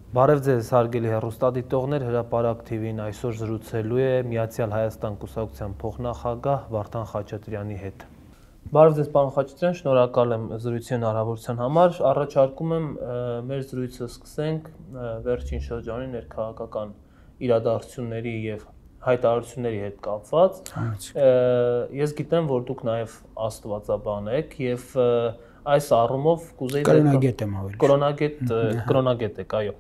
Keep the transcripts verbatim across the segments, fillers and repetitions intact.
Բարև ձեզ հարգելի հեռուստադիտողներ, Հրապարակ Թ V-ն այսօր զրուցելու է Միացյալ Հայաստան կուսակցության փոխնախագահ Վարդան Խաչատրյանի հետ։ Բարև ձեզ պարոն Խաչատրյան, շնորհակալ եմ զրույցի հնարավորության համար։ Առաջարկում եմ մեր զրույցը սկսենք վերջին շրջանի ներքաղաքական իրադարձությունների եւ հայտարարությունների հետ կապված։ Ես գիտեմ, որ դուք նաեւ աստվածաբան եք եւ այս առումով կուզեի կրոնագետ եմ ավելի կրոնագետ կրոնագետ եք, այո։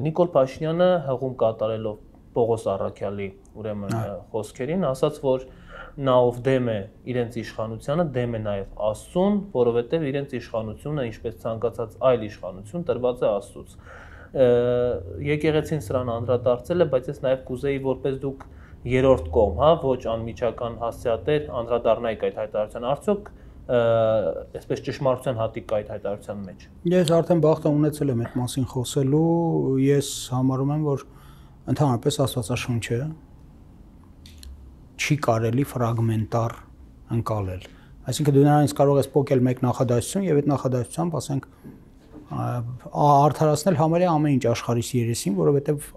Նիկոլ Փաշինյանը հղում կատարելով Պողոս Առաքյալի ուրեմն խոսքերին ասաց, որ նա ով դեմ է իրենց իշխանությանը, դեմ է նաև Աստծուն, որովհետև իրենց իշխանությունը, ինչպես ցանկացած այլ իշխանություն, տրված է Աստծուց։ Եկեղեցին սրան անդրադարձել է, բայց ես նաև կուզեի, որպես դուք երրորդ կողմ, հա, ոչ անմիջական հասցեատեր անդրադառնայիք այդ հայտարարության, արդյոք այսպես ճշմարտության հատիկ կա այդ հայտարարության մեջ։ Ես արդեն բախտը ունեցել եմ այդ մասին խոսելու, ես համարում եմ, որ ընդհանրապես Աստվածաշունչը չի կարելի ֆրագմենտար ընկալել։ Այսինքն դու նրանից կարող ես փոկել մեկ նախադասություն եւ այդ նախադասությամբ, ասենք, արդարացնել համարյա ամեն ինչ աշխարհիս երեսին, որովհետեւ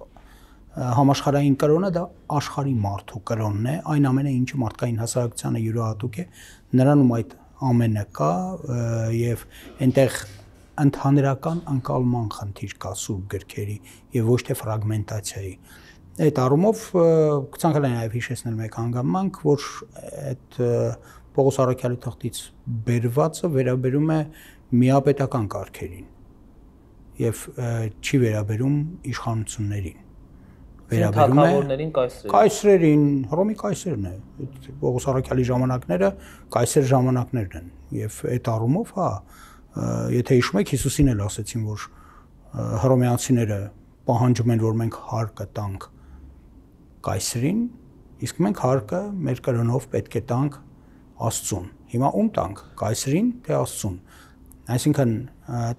համաշխարհային կրոնը դա աշխարհի մարդու կրոնն է, այն ամենը, ինչը մարդկային հասարակությանը յուրահատուկ է, նրանում այդ ամենը կա եւ այնտեղ ընդհանրական անկալման խնդիր կա սուրբ գրքերի եւ ոչ թե ֆրագմենտացիայի։ Այդ առումով կցանկանայի նաեւ հիշեցնել մեկ հանգամանք, որ այդ Պողոս Առաքյալի թղթից բերվածը վերաբերում է միապետական կարգերին եւ չի վերաբերում իշխանություններին։ Վերաբերում է կայսրերին, Հռոմի կայսերն է, Պողոս Առաքյալի ժամանակները կայսեր ժամանակներն են եւ այդ առումով, հա, եթե հիշում եք, Հիսուսին էլ ասեցին, որ հռոմեացիները պահանջում են, որ մենք հարկը տանք կայսրին, իսկ մենք հարկը մեր կրոնով պետք է տանք Աստծուն։ Հիմա ում տանք, կայսրին թե Աստծուն։ Այսինքն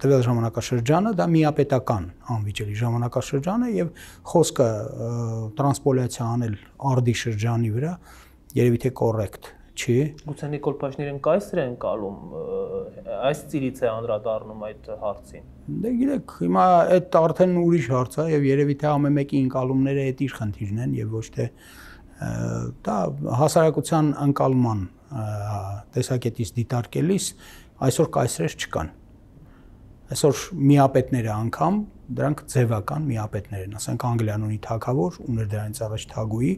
տվյալ ժամանակաշրջանը դա միապետական անվիճելի ժամանակաշրջան է եւ խոսքը տրանսպոլյացիա անել արդի շրջանի վրա երևի թե կոռեկտ չի։ Գուցե Նիկոլ Փաշինյանը կայսր է ընկալում, այս ծիրից է անդրադառնում այդ հարցին։ Դե գիտեք, հիմա այդ արդեն ուրիշ հարց է եւ երևի թե ամեն մեկի ընկալումները այդ իր խնդիրն են եւ ոչ թե դա հասարակության ընկալման տեսակետից դիտարկելիս այսօր կայսրեր չկան։ Այսօր միապետները անգամ դրանք ձևական միապետներ են, ասենք Անգլիան ունի թագավոր, ուներ դրանից առաջ թագուհի,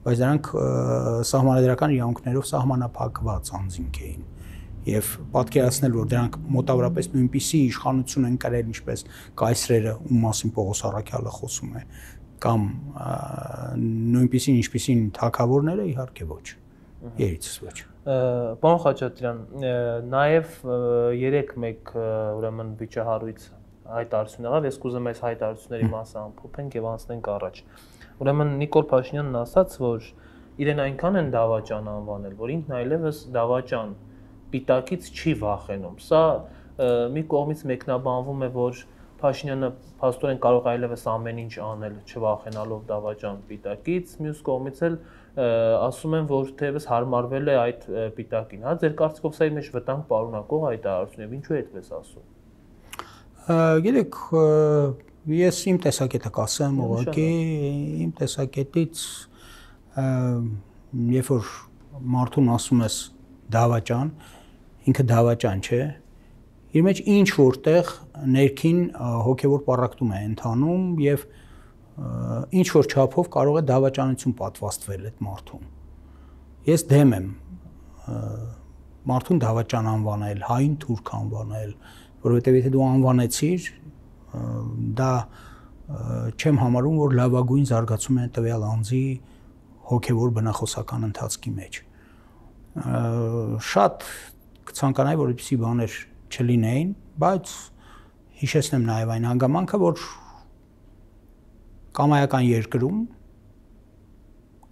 բայց դրանք սահմանադրական իրավունքներով սահմանափակված անձինք էին։ Եւ պատկերացնել, որ դրանք մոտավորապես նույնպիսի իշխանություն են կրել, ինչպես կայսրերը, ում մասին Պողոս Առաքյալը խոսում է, կամ նույնպիսին ինչպիսին թագավորները, իհարկե ոչ։ Երիցս ոչ։ Պարոն Խաչատրյան, նաև երեք մեկ ուրեմն վիճահարույց հայտարարություն եղավ, ես կուզեմ այս հայտարարությունների մասը ամփոփենք եւ անցնենք առաջ։ Ուրեմն Նիկոլ Փաշինյանն ասաց, որ իրեն այնքան են դավաճան անվանել, որ ինքն այլևս դավաճան պիտակից չի վախենում։ Սա մի կողմից մեկնաբանվում է, որ Փաշինյանը փաստորեն կարող այլևս ամեն ինչ անել, չվախենալով դավաճան պիտակից, մյուս կողմից էլ ասում են, որ թեևս հարմարվել է այդ պիտակին, հա, ձեր կարծիքով սա իր մեջ վտանգ պարունակող հայտարարություն է, ինչու է այդպես ասում։ Գիտեք, ես իմ տեսակետը կասեմ, ուղղակի իմ տեսակետից, երբ որ մարդուն ասում ես դավաճան, ինքը դավաճան չէ, իր մեջ ինչ որտեղ ներքին հոգևոր պառակտում է ընթանում եւ ինչ որ չափով կարող է դավաճանություն պատվաստվել այդ մարդուն։ Ես դեմ եմ մարդուն դավաճան անվանել, հային թուրք անվանել, որովհետեւ եթե դու անվանեցիր, դա չեմ համարում, որ լավագույն զարգացում է տվյալ անձի հոգևոր բնախոսական ընթացքի մեջ։ Շատ կցանկանայի, որ այդպիսի բաներ չլինեին, բայց հիշեցնեմ նաև այն հանգամանքը, որ կամայական երկրում,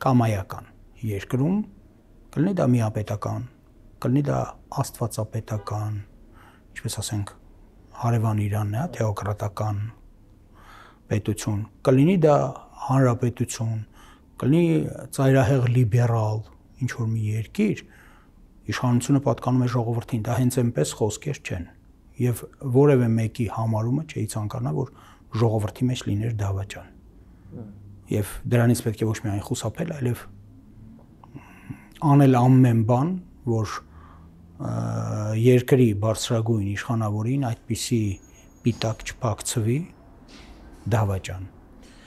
կամայական երկրում կլինի դա միապետական, կլինի դա աստվածապետական, ինչպես ասենք, հարևան Իրանն է, թեոկրատական պետություն, կլինի դա հանրապետություն, կլինի ծայրահեղ լիբերալ ինչ-որ մի երկիր, իշխանությունը պատկանում է ժողովրդին, դա հենց այնպես խոսքեր չեն, և որևէ մեկի համարումը չէի ցանկանա, որ ժողովրդի մեջ լիներ դավաճան։ Եվ դրանից պետք է ոչ միայն խուսափել, այլև անել ամեն բան, որ երկրի բարձրագույն իշխանավորին այդպիսի պիտակ չփակցվի դավաճան։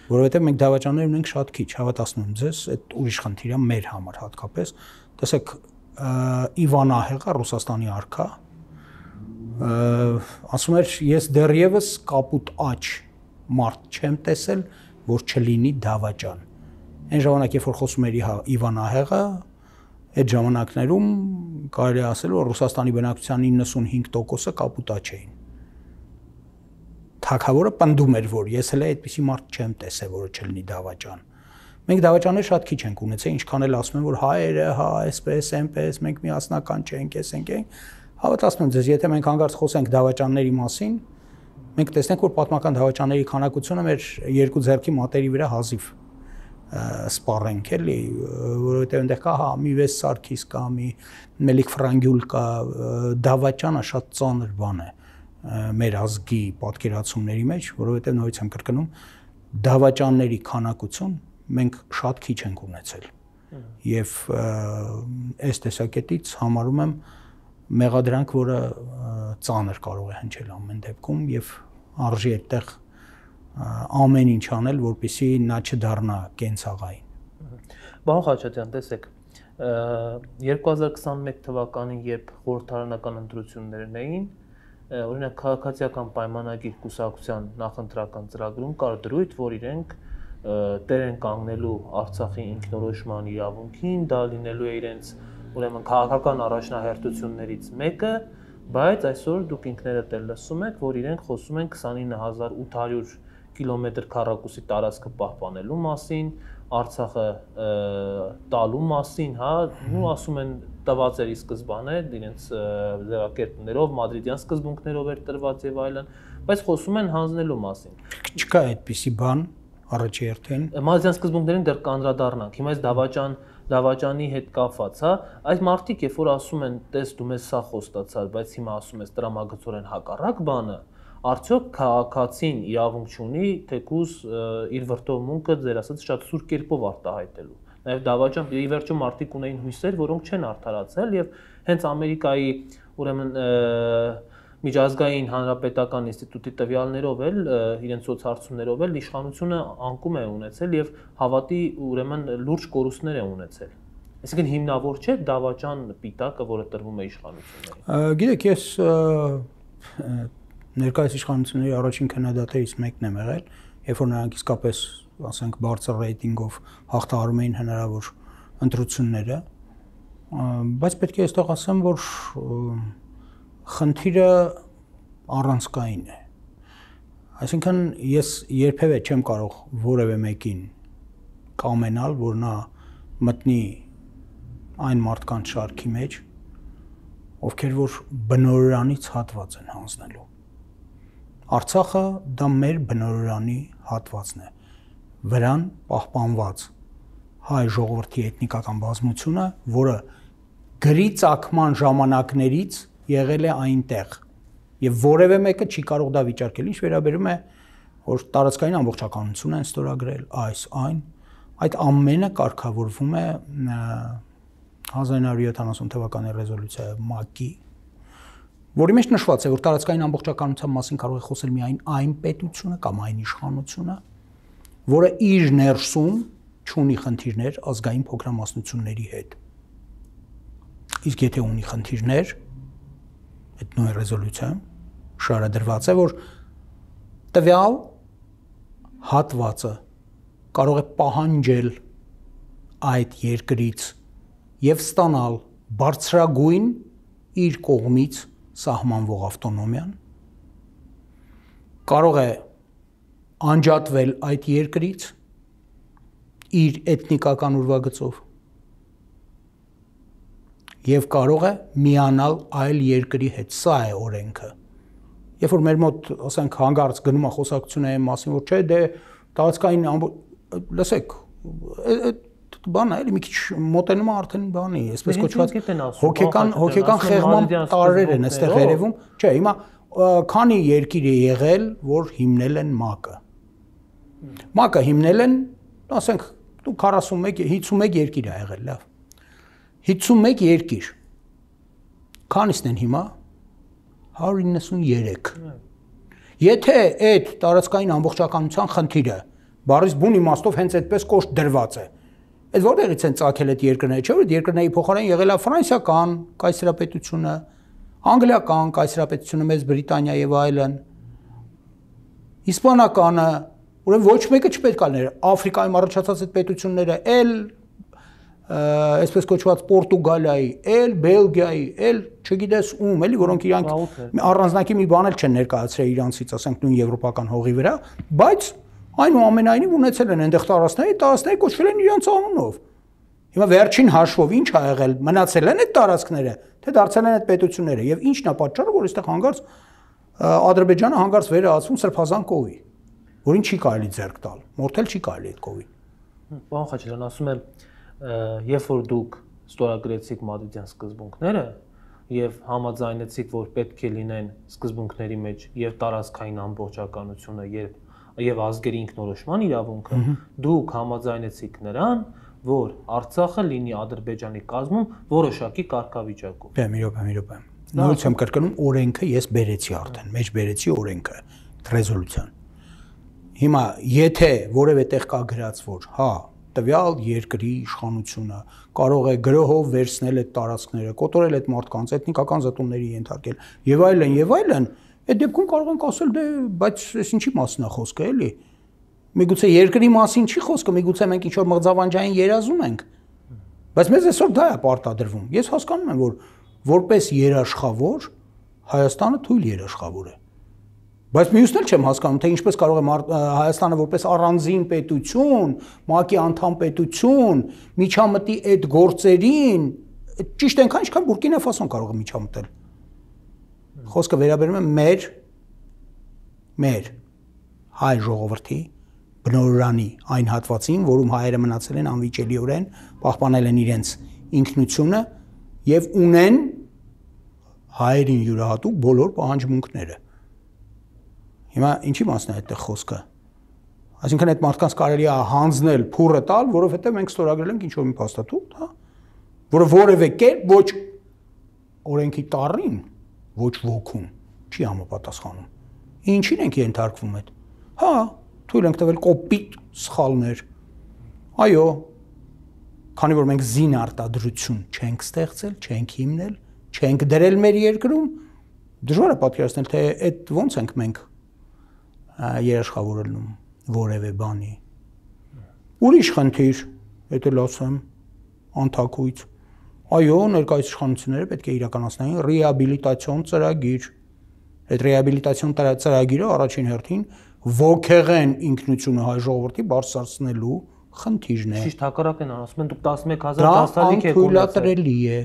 Որովհետև մենք դավաճաններ ունենք շատ քիչ, հավատացնում եմ ձեզ, այդ ուրիշ խնդիր է մեր համար հատկապես։ Տեսեք, Իվան Ահեղը, Ռուսաստանի արքա, ասում էր, ես դեռևս կապուտ աջ մարդ չեմ տեսել, որ չլինի դավաճան։ Այն ժամանակ, երբ որ խոսում էր Իվան Ահեղը, այդ ժամանակներում կարելի է ասել, որ Ռուսաստանի բնակչության իննսունհինգ տոկոսը կապուտ աջ էին։ Թագավորը պնդում էր, որ ես հենց այդպիսի մարդ չեմ տեսել, որը չլինի դավաճան։ Մենք դավաճաններ շատ քիչ ենք ունեցել, ինչքան էլ ասում են, որ հայերը, հա, այսպես, այնպես, մենք միասնական չենք, ես ենք ենք։ Հավատացնում եմ ձեզ, եթե մենք հանգարց խոսենք դավաճանների մասին, մենք տեսնենք, որ պատմական դավաճանների քանակությունը մեր երկու ձեռքի մատերի վրա հազիվ սպառենք, էլի, որովհետև այնտեղ կա, հա, մի վեց Սարգիս կա, մի Մելիք Ֆրանգյուլ կա, դավաճանը շատ ծանր բան է մեր ազգի պատկերացումների մեջ, որովհետև նորից եմ կրկնում, դավաճանների քանակություն մենք շատ քիչ ենք ունեցել։ Եվ այս տեսակետից համարում եմ մեղադրանք, որը ծանր կարող է հնչել ամեն դեպքում եւ արժի այդտեղ ամեն ինչ անել, որպեսզի նա չդառնա կենցաղային։ Պարոն Խաչատրյան, տեսեք, երկու հազար քսանմեկ թվականին, երբ խորհրդարանական ընտրություններն էին, օրինակ քաղաքացիական պայմանագիր կուսակցության նախընտրական ծրագրում կար դրույթ, որ իրենք տեր են կանգնելու Արցախի ինքնորոշման իրավունքին, դա լինելու է իրենց ուրեմն քաղաքական առաջնահերթություններից մեկը, բայց այսօր դուք ինքներդ էլ լսում եք, որ իրենք խոսում են քսանինը հազար ութ հարյուր կիլոմետր քառակուսի տարածքը պահպանելու մասին, Արցախը տալու մասին, հա, ու ասում են տված էր ի սկզբանե իրենց ձևակերպներով, մադրիդյան սկզբունքներով էր տրված եւ այլն, բայց խոսում են հանձնելու մասին։ Չկա այդպիսի բան առաջի հերթին։ Մադրիդյան սկզբունքներին դեռ կանդրադառնանք։ Հիմա այս դավաճան դավաճանի հետ կապված, հա, այս մարդիկ երբ որ ասում են, տես դու մեզ սա խոստացար, բայց հիմա ասում ես տրամագծորեն հակառակ բանը, արդյոք քաղաքացին իրավունք չունի թեկուզ իր վրդովմունքը ձեր ասած շատ սուր կերպով արտահայտելու։ Նաև դավաճան ի վերջո մարդիկ ունեին հույսեր, որոնք չեն արդարացել եւ հենց Ամերիկայի ուրեմն միջազգային հանրապետական ինստիտուտի տվյալներով էլ իրենց սոցհարցումներով էլ իշխանությունը անկում է ունեցել եւ հավատի ուրեմն լուրջ կորուստներ է ունեցել։ Այսինքն հիմնավոր չէ դավաճան պիտակը, որը տրվում է իշխանություններին։ Գիտեք, ես ներկայիս իշխանությունների առաջին քննադատներից մեկն եմ եղել, երբ որ նրանք իսկապես, ասենք, բարձր ռեյտինգով հաղթահարում էին հնարավոր ընտրությունները, բայց պետք է այստեղ ասեմ, որ խնդիրը առանցքային է։ Այսինքն ես երբևէ չեմ կարող որևէ մեկին կամենալ, որ նա մտնի այն մարդկանց շարքի մեջ, ովքեր որ բնորրանից հատված են հանձնելու։ Արցախը դա մեր բնորանի հատվածն է, վրան պահպանված հայ ժողովրդի էթնիկական բազմությունը, որը գրի ծագման ժամանակներից եղել է այնտեղ եւ որևէ մեկը չի կարող դա վիճարկել, ինչ վերաբերում է, որ տարածքային ամբողջականություն են ստորագրել, այս այն, այդ ամենը կարգավորվում է հազար ինը հարյուր յոթանասուն թվականի ռեզոլյուցիա ՄԱԿ-ի, որի մեջ նշված է, որ տարածքային ամբողջականության մասին կարող է խոսել միայն այն պետությունը կամ այն իշխանությունը, որը իր ներսում չունի խնդիրներ ազգային փոքրամասնությունների հետ։ Իսկ եթե ունի խնդիրներ, այդ նույն ռեզոլյուցիայում շարադրված է, որ տվյալ հատվածը կարող է պահանջել այդ երկրից եւ ստանալ բարձրագույն իր կողմից սահմանվող ավտոնոմիան, կարող է անջատվել այդ երկրից իր էթնիկական ուրվագծով եւ կարող է միանալ այլ երկրի հետ, սա է օրենքը։ Երբ որ մեր մոտ, ասենք, հանգարց գնում է խոսակցությունը այն մասին, որ չէ, դե տարածքային լսեք, բանը էլի մի քիչ մոտենում է արդեն բանի, այսպես կոչված հոգեկան հոգեկան խեղման տարրեր են այստեղ երևում, չէ, հիմա քանի երկիր է եղել, որ հիմնել են ՄԱԿ-ը։ ՄԱԿ-ը հիմնել են, ասենք, դու քառասունմեկ հինգսունմեկ երկիր է եղել, լավ։ հինգսունմեկ երկիր։ Քանիսն են հիմա։ հարյուր իննսուներեք։ Եթե այդ տարածքային ամբողջականության խնդիրը բառից բուն իմաստով հենց այդպես կոշտ դրված է, այդ որտեղից են ծագել այդ երկրները, չէ՞ որ այդ երկրների փոխարեն եղել է ֆրանսիական կայսերապետությունը, անգլիական կայսերապետությունը, Մեծ Բրիտանիա եւ այլն, իսպանականը, ուրեմն ոչ մեկը չպետք է լիներ, Աֆրիկայում առաջացած այդ պետությունները, էլ այսպես կոչված Պորտուգալիայի, էլ Բելգիայի, էլ չգիտես ում, էլի, որոնք իրանք առանձնակի մի բան էլ չեն ներկայացրել իրանցից, ասենք նույն եվրոպական հողի վրա, բայց այնուամենայնիվ ունեցել են այնտեղ տարածքներ, տարածքները կոչվել են իրանց անունով։ Հիմա վերջին հաշվով ինչ ա եղել, մնացել են այդ տարածքները, թե դարձել են այդ պետությունները, եւ ինչն է պատճառը, որ այստեղ հանգարց Ադրբեջանը հանգարց վերածվում սրբազան կովի, որին չի կարելի ձեռք տալ, մորթել չի կարելի այդ կովին։ Պարոն Խաչատրյան, ասում եմ, երբ որ դուք ստորագրեցիք Մադրիդյան սկզբունքները եւ համաձայնեցիք, որ պետք է լինեն սկզբունքների մեջ եւ տարածքային ամբողջականությունը եւ եւ ազգերի ինքնորոշման իրավունքը, դուք համաձայնեցիք նրան, որ Արցախը լինի Ադրբեջանի կազմում որոշակի կարգավիճակով։ Դե մի րոպե, մի րոպե։ Նույնիսկ եմ կրկնում, օրենքը ես բերեցի արդեն, մեջ բերեցի օրենքը, ռեզոլյուցիան։ Հիմա եթե որևէ տեղ կա գրած, որ հա տվյալ երկրի իշխանությունը կարող է գրոհով վերցնել այդ տարածքները, կոտորել այդ մարդկանց, էթնիկական զտումների ենթարկել եւ այլն եւ այլն, այդ դեպքում կարող ենք ասել դե, բայց այս ինչի մասն է խոսքը, էլի։ Միգուցե երկրի մասին չի խոսքը, միգուցե մենք ինչ-որ մղձավանջային երազում ենք։ Բայց մեզ այսօր դա է պարտադրվում։ Ես հասկանում եմ, որ որպես երաշխավոր Հայաստանը թույլ երաշխավոր է։ Բայց մյուսն էլ չեմ հասկանում, թե ինչպես կարող է Հայաստանը որպես առանձին պետություն, ՄԱԿ-ի անդամ պետություն, միջամտի այդ գործերին, ճիշտ այնքան, ինչքան Բուրկինա Ֆասոն կարող է միջամտել։ Խոսքը վերաբերում է մեր մեր հայ ժողովրդի բնորանի այն հատվածին, որում հայերը մնացել են անվիճելիորեն, պահպանել են իրենց ինքնությունը եւ ունեն հայերին յուրահատուկ բոլոր պահանջմունքները։ Հիմա ինչի մասն է այդտեղ խոսքը։ Այսինքն այդ մարդկանց կարելի է հանձնել, փուրը տալ, որովհետեւ մենք ստորագրել ենք ինչ-որ մի փաստաթուղթ, հա, որը որևէ կերպ ոչ օրենքի տառին, ոչ ոգուն չի համապատասխանում։ Ինչին ենք ենթարկվում այդ։ Հա, թույլ ենք տվել կոպիտ սխալներ։ Այո, քանի որ մենք զին արտադրություն չենք ստեղծել, չենք հիմնել, չենք դրել մեր երկրում, դժվար է պատկերացնել, թե այդ ոնց ենք մենք երաշխավորելնում որևէ բանի։ Ուրիշ խնդիր, եթե լացեմ, անթակույց։ Այո, ներկայիս իշխանությունները պետք է իրականացնեին ռեաբիլիտացիոն ծրագիր։ Այդ ռեաբիլիտացիոն ծրագիրը առաջին հերթին ոգեղեն ինքնությունը հայ ժողովրդի բարձրացնելու խնդիրն է։ Ճիշտ հակառակն են ասում են, դուք տասնմեկ հազար դասալիկ եք ունեցել։ Դա անթույլատրելի է։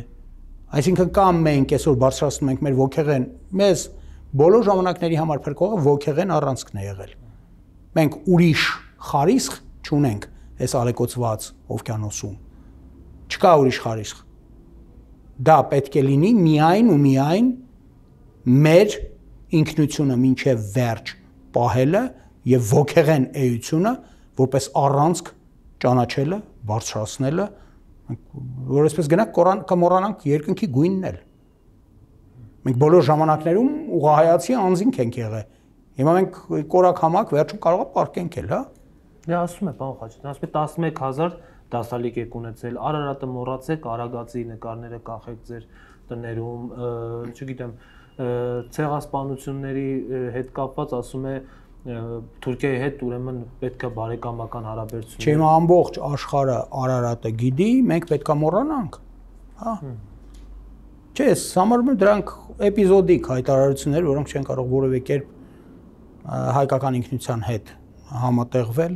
Այսինքն կամ մենք այսօր բարձրացնում ենք մեր ոգեղեն, մեզ բոլոր ժամանակների համար փրկողը ոգեղեն առանցքն է եղել։ Մենք ուրիշ խարիսխ չունենք այս ալեկոծված օվկիանոսում։ Չկա ուրիշ խարիսխ։ Դա պետք է լինի միայն ու միայն մեր ինքնությունը մինչև վերջ պահելը եւ ոգեղեն էությունը որպես առանցք ճանաչելը, բարձրացնելը, որ այսպես գնանք կորան կմոռանանք երկնքի գույնն էլ։ Մենք բոլոր ժամանակներում ուղղահայացի անձինք ենք եղել։ Հիմա մենք կորակ համակ վերջում կարող է պարկենք էլ, հա։ Դե ասում է, պարոն Խաչատրյան, ասում է տասնմեկ հազար դասալիկ եք ունեցել, Արարատը մոռացեք, Արագածի նկարները կախեք ձեր տներում, չգիտեմ, ցեղասպանությունների հետ կապված ասում է Թուրքիայի հետ ուրեմն պետք է բարեկամական հարաբերություններ։ Չէ, հիմա ամբողջ աշխարհը Արարատը գիտի, մենք պետք է մոռանանք, հա։ Չէ, համարում եմ դրանք էպիզոդիկ հայտարարություններ, որոնք չեն կարող որևէ կերպ հայկական ինքնության հետ համատեղվել։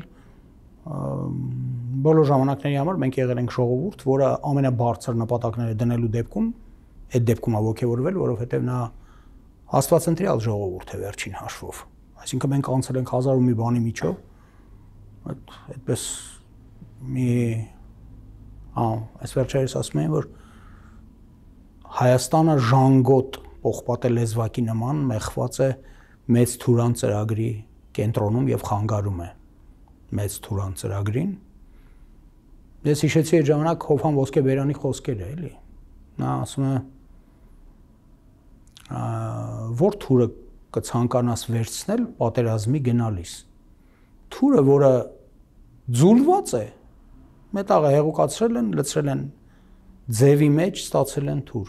Բոլոր ժամանակների համար մենք եղել ենք ժողովուրդ, որը ամենաբարձր նպատակները դնելու դեպքում այդ դեպքում ողջևորվել, որովհետև նա աստվածընտրյալ ժողովուրդ է վերջին հաշվով։ Այսինքն մենք անցել ենք հազար ու մի բանի միջով, այդպես մի ահա, այս վերջերս ասում են, որ Հայաստանը ժանգոտ պողպատե լեզվակի նման մեխված է մեծ թուրան ծրագրի կենտրոնում եւ խանգարում է մեծ թուրան ծրագրին։ Ես հիշեցի այդ ժամանակ Հովհան Ոսկեբերյանի խոսքերը, էլի։ Նա ասում է որ թուրը կցանկանաս վերցնել պատերազմի գնալիս։ Թուրը, որը ձուլված է, մետաղը հեղուկացրել են, լցրել են ձևի մեջ, ստացել են թուր,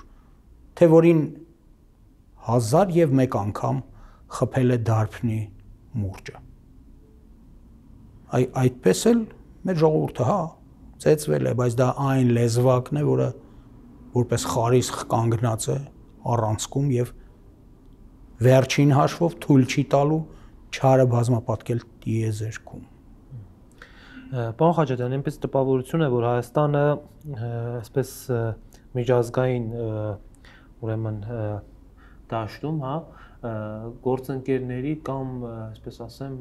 թե որին հազար եւ մեկ անգամ խփել է դարբնի մուրճը։ Այ այդպես էլ մեր ժողովուրդը, հա, ծեծվել է, բայց դա այն լեզվակն է, որը որպես խարիսխ կանգնած է առանցքում եւ վերջին հաշվով թույլ չի տալու չարը բազմապատկել տիեզերքում։ Պարոն Խաչատրյան, այնպես տպավորություն է, որ Հայաստանը այսպես միջազգային ուրեմն դաշտում, հա, գործընկերների կամ, այսպես ասեմ,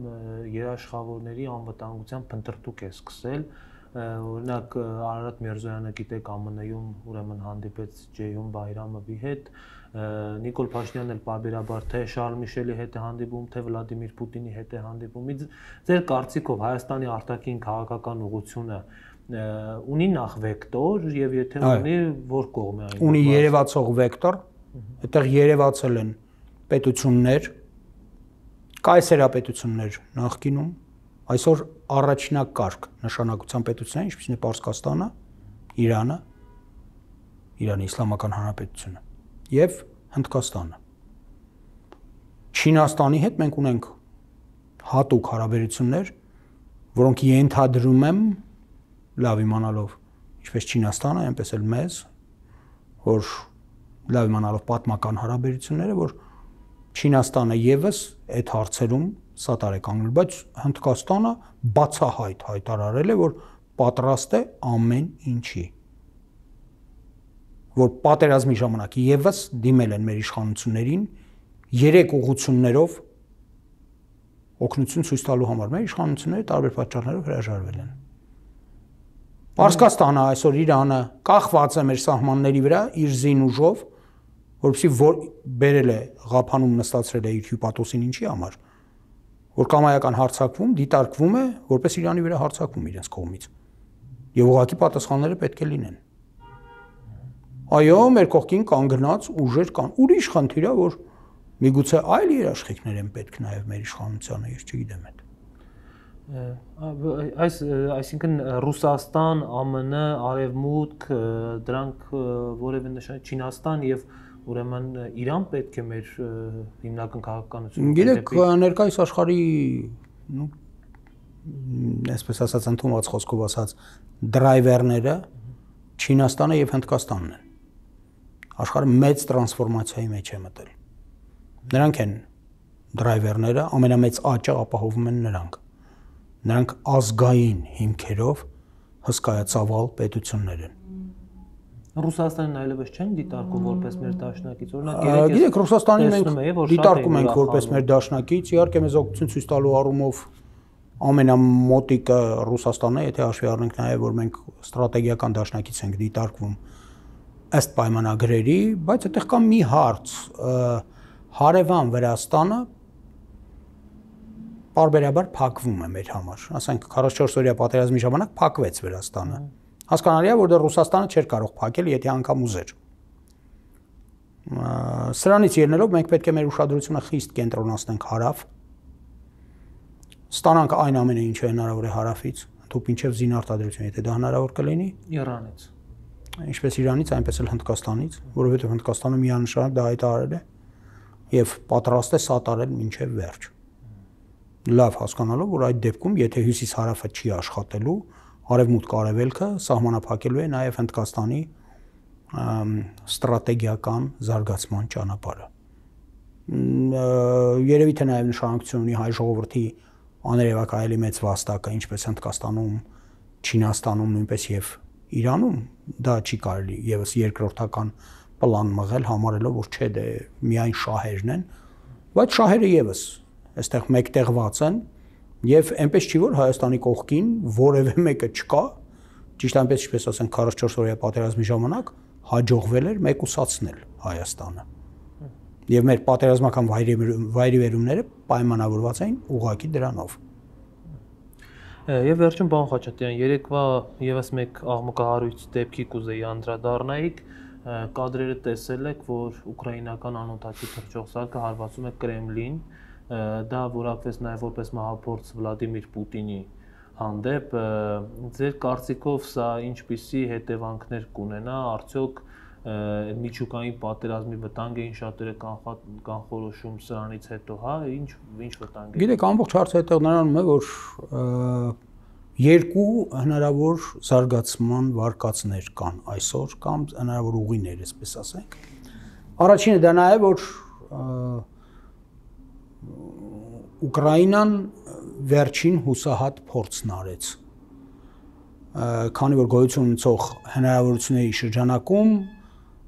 երաշխավորների անվտանգության փնտրտուք է սկսել։ Օրինակ Արարատ Միրզոյանը գիտեք ԱՄՆ -ում ուրեմն հանդիպեց Ջեյհուն Բայրամովի հետ, Նիկոլ Փաշինյանն էլ պարբերաբար թե Շարլ Միշելի հետ է հանդիպում, թե Վլադիմիր Պուտինի հետ է հանդիպում։ Ձեր կարծիքով Հայաստանի արտաքին քաղաքական ուղղությունը ունի նախ վեկտոր եւ եթե ունի, որ կողմ է այն։ Ունի երևացող վեկտոր, այդտեղ երևացել են պետություններ, կայսերապետություններ նախկինում, այսօր առաջնակարգ նշանակության պետություններ, ինչպիսին է Պարսկաստանը, Իրանը, Իրանի Իսլամական Հանրապետությունը եւ Հնդկաստանը։ Չինաստանի հետ մենք ունենք հատուկ հարաբերություններ, որոնք ենթադրում եմ լավ իմանալով ինչպես Չինաստանը, այնպես էլ մեզ, որ լավ իմանալով պատմական հարաբերությունները, որ Չինաստանը եւս այդ հարցերում սատար է կանգնել, բայց Հնդկաստանը բացահայտ հայտարարել է, որ պատրաստ է ամեն ինչի, որ պատերազմի ժամանակ եւս դիմել են մեր իշխանություններին երեք ուղղություններով օգնություն ցույց տալու համար։ Մեր իշխանությունները տարբեր պատճառներով հրաժարվել են։ Պարսկաստանը այսօր Իրանը կախված է մեր սահմանների վրա իր զին ուժով, որովհետեւ որ բերել է Ղափանում նստացրել է իր հյուպատոսին ինչի համար, որ կամայական հարձակվում, դիտարկվում է, որպես Իրանի վրա հարձակվում իրենց կողմից։ Եվ ուղղակի պատասխանները պետք է լինեն։ Այո, մեր կողքին կանգնած ուժեր կան։ Ուրիշ խնդիր է, որ միգուցե այլ երաշխիքներ են պետք նաև մեր իշխանությանը, ես չգիտեմ այդ։ Այս այսինքն Ռուսաստան, ԱՄՆ, Արևմուտք, դրանք որևէ նշան Չինաստան եւ ուրեմն Իրան պետք է մեր հիմնական քաղաքականությունը։ Գիտեք, ներկայիս աշխարհի, ну, այսպես ասած, ընդունված խոսքով ասած, դրայվերները Չինաստանը եւ Հնդկաստանն են։ Աշխարհը մեծ տրանսֆորմացիայի մեջ է մտել։ Նրանք են դրայվերները, ամենամեծ աճը ապահովում են նրանք։ Նրանք ազգային հիմքերով հսկայածավալ պետություններ են։ Ռուսաստանն այլևս չեն դիտարկում որպես մեր դաշնակից, օրինակ գիտեք, Ռուսաստանին մենք դիտարկում ենք որպես մեր դաշնակից, իհարկե մեզ օգնություն ցույց տալու առումով ամենամոտիկը Ռուսաստանն է, եթե հաշվի առնենք նաև, որ մենք ստրատեգիական դաշնակից ենք դիտարկվում ըստ պայմանագրերի, բայց այդտեղ կա մի հարց, հարևան Վրաստանը պարբերաբար փակվում է մեր համար, ասենք քառասունչորս օրյա պատերազմի ժամանակ փակվեց Վրաստանը։ Հասկանալի է, որ դա Ռուսաստանը չէր կարող փակել, եթե անգամ ուզեր։ Սրանից ելնելով մենք պետք է մեր ուշադրությունը խիստ կենտրոնացնենք հարավ, ստանանք այն ամենը, ինչը հնարավոր է հարավից, ընդհանուր մինչև զինարտադրություն, եթե դա հնարավոր կլինի, Իրանից, ինչպես Իրանից, այնպես էլ Հնդկաստանից, որովհետև Հնդկաստանը միանշանակ դա հայտարարել է եւ պատրաստ է սատարել մինչև վերջ։ Լավ հասկանալով, որ այդ դեպքում, եթե հյուսիս-հարավը չի աշխատելու, արևմուտք-արևելքը սահմանափակելու է նաև Հնդկաստանի ստրատեգիական զարգացման ճանապարհը։ Երևի թե նաև նշանակություն ունի հայ ժողովրդի աներևակայելի մեծ վաստակը, ինչպես Հնդկաստանում, Չինաստանում, նույնպես եւ Իրանում, դա չի կարելի եւս երկրորդական պլան մղել, համարելով, որ չէ, դե միայն շահերն են, բայց շահերը եւս այստեղ մեկտեղված են եւ այնպես չի, որ Հայաստանի կողքին որևէ մեկը չկա, ճիշտ այնպես ինչպես ասենք քառասունչորս օրյա պատերազմի ժամանակ հաջողվել էր մեկուսացնել Հայաստանը։ Եվ մեր պատերազմական վայրիվերումները պայմանավորված էին ուղղակի դրանով։ Եվ վերջում պարոն Խաչատրյան, երեկվա եւս մեկ աղմկահարույց դեպքի կուզեի անդրադառնայիք, կադրերը տեսել եք, որ ուկրաինական անօթաչի թռչող սարքը հարվածում է Կրեմլին, դա որակվեց նաեւ որպես մահափորձ Վլադիմիր Պուտինի հանդեպ, ձեր կարծիքով սա ինչպիսի հետևանքներ կունենա, արդյոք միջուկային պատերազմի վտանգ էին շատերը կանխորոշում սրանից հետո, հա, ինչ ինչ վտանգ է։ Գիտեք, ամբողջ հարցը այդտեղ նրանում է, որ երկու հնարավոր զարգացման վարկածներ կան այսօր կամ հնարավոր ուղիներ, այսպես ասենք։ Առաջինը դա նա է, որ Ուկրաինան վերջին հուսահատ փորձն արեց, քանի որ գոյություն ունեցող հնարավորությունների շրջանակում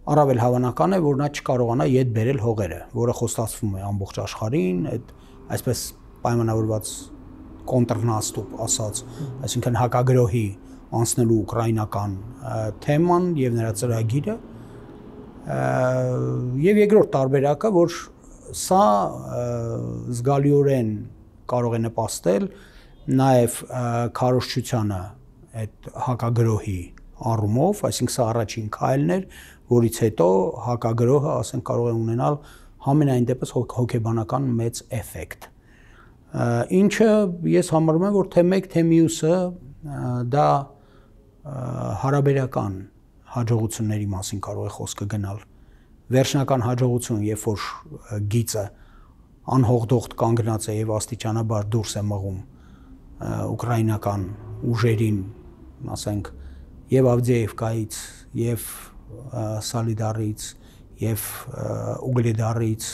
առավել հավանական է, որ նա չկարողանա ետ բերել հողերը, որը խոստացվում է ամբողջ աշխարհին, այդ այսպես պայմանավորված կոնտրնաստուպ ասած, այսինքն հակագրոհի անցնելու ուկրաինական թեման եւ նրա ծրագիրը, եւ երկրորդ տարբերակը, որ սա զգալիորեն կարող է նպաստել նաեւ քարոզչությանը այդ հակագրոհի առումով, այսինքն սա առաջին քայլն էր, որից հետո հակագրոհը, ասենք, կարող է ունենալ համենայն դեպս հոգեբանական մեծ էֆեկտ։ Ինչը ես համարում եմ, որ թե մեկ, թե մյուսը դա հարաբերական հաջողությունների մասին կարող է խոսքը գնալ։ Վերջնական հաջողություն, երբ որ գիծը անհողդողդ կանգնած է եւ աստիճանաբար դուրս է մղում ուկրաինական ուժերին, ասենք, եւ Ավդիևկայից, եւ Սալիդարից եւ Ուգլեդարից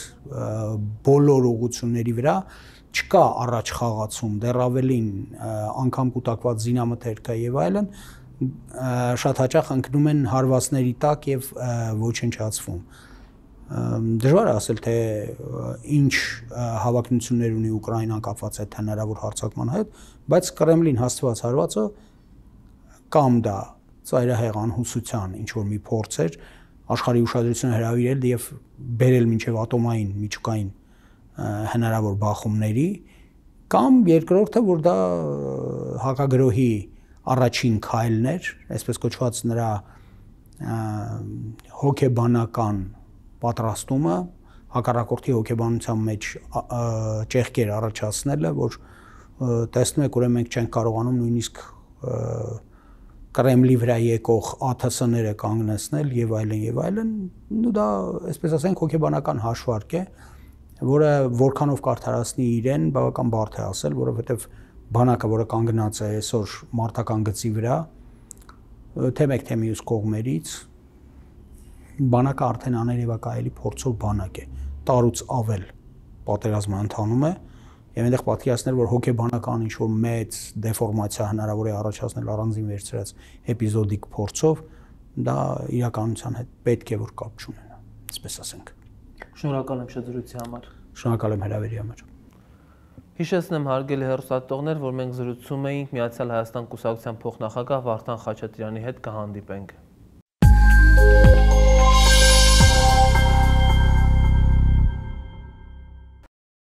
բոլոր ուղությունների վրա չկա առաջ խաղացում, դեռ ավելին անգամ կուտակված զինամթերքը եւ այլն շատ հաճախ ընկնում են հարվածների տակ եւ ոչնչացվում։ Դժվար է ասել, թե ինչ հավակնություններ ունի Ուկրաինան կապված այդ հնարավոր հարձակման հետ, բայց Կրեմլին հաստված հարվածը կամ դա ծայրահեղ անհուսության ինչ որ մի փորձ էր աշխարհի ուշադրությունը հրավիրել եւ բերել մինչեւ ատոմային միջուկային հնարավոր բախումների, կամ երկրորդը, որ դա հակագրոհի առաջին քայլն էր, այսպես կոչված նրա հոգեբանական պատրաստումը, հակառակորդի հոգեբանության մեջ ճեղքեր առաջացնելը, որ տեսնում եք, ուրեմն մենք չենք կարողանում նույնիսկ Կրեմլի վրա եկող ԱԹՍ-ները կանգնեցնել եւ այլն եւ այլն, ու դա, այսպես ասենք, հոգեբանական հաշվարկ է, որը որքանով կարդարացնի իրեն, բավական բարդ է ասել, որովհետեւ բանակը, որը կանգնած է այսօր մարտական գծի վրա, թե մեկ թե մյուս կողմերից, բանակը արդեն աներևակայելի փորձով բանակ է, տարուց ավել պատերազմը ընթանում է, եւ այնտեղ պատկերացնել, որ հոգեբանական ինչ-որ մեծ դեֆորմացիա հնարավոր է առաջացնել առանձին վերցրած էպիզոդիկ փորձով, դա իրականության հետ պետք է որ կապ չունենա, այսպես ասենք։ Շնորհակալ եմ շրջրույցի համար։ Շնորհակալ եմ հրավերի համար։ Հիշեցնեմ հարգելի հեռուստատողներ, որ մենք զրուցում էինք Միացյալ Հայաստան կուսակցության փոխնախագահ Վարդան Խաչատրյանի հետ, կհանդիպենք։